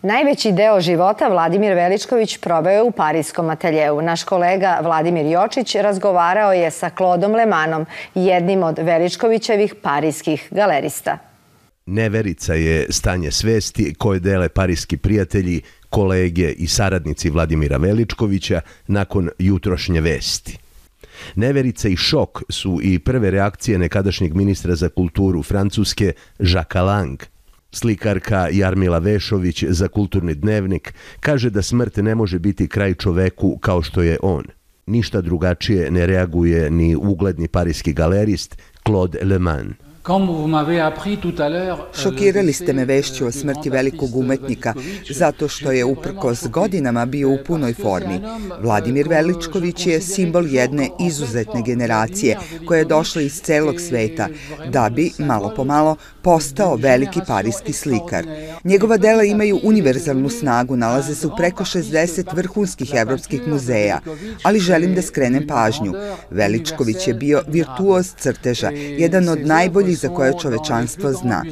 Najveći deo života Vladimir Veličković proveo je u pariskom ateljeu. Naš kolega Vladimir Jočić razgovarao je sa Claudom Lemanom, jednim od Veličkovićevih parijskih galerista. Neverica je stanje svesti koje dele parijski prijatelji, kolege i saradnici Vladimira Veličkovića nakon jutrošnje vesti. Neverica i šok su i prve reakcije nekadašnjeg ministra za kulturu Francuske Jacquesa Lang. Slikarka Jarmila Vešović za Kulturni dnevnik kaže da smrt ne može biti kraj čoveku kao što je on. Ništa drugačije ne reaguje ni ugledni parijski galerist Claude Leman. Šokirali ste me vešću o smrti velikog umetnika, zato što je uprkos godinama bio u punoj formi. Vladimir Veličković je simbol jedne izuzetne generacije koja je došla iz celog sveta, da bi, malo po malo, postao veliki parijski slikar. Njegova dela imaju univerzalnu snagu, nalaze se u preko 60 vrhunskih evropskih muzeja, ali želim da skrenem pažnju. Veličković je bio virtuoz crteža, jedan od najboljih za koje čovečanstvo zna.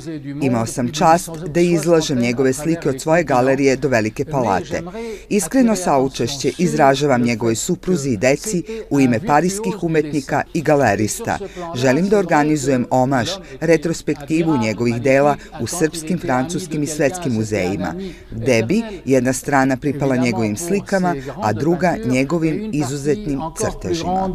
Imao sam čast da izlažem njegove slike od svoje galerije do Velike palate. Iskreno saučešće izražavam njegovoj supruzi i deci u ime parijskih umetnika i galerista. Želim da organizujem omaž, retrospektivu njegovih dela u srpskim, francuskim i svetskim muzejima, gde bi jedna strana pripala njegovim slikama, a druga njegovim izuzetnim crtežima.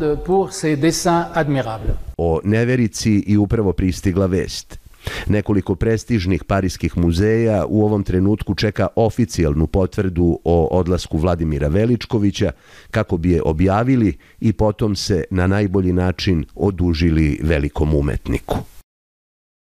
O Neverici i upravo pristigla vest. Nekoliko prestižnih parijskih muzeja u ovom trenutku čeka oficijalnu potvrdu o odlasku Vladimira Veličkovića kako bi je objavili i potom se na najbolji način odužili velikom umetniku.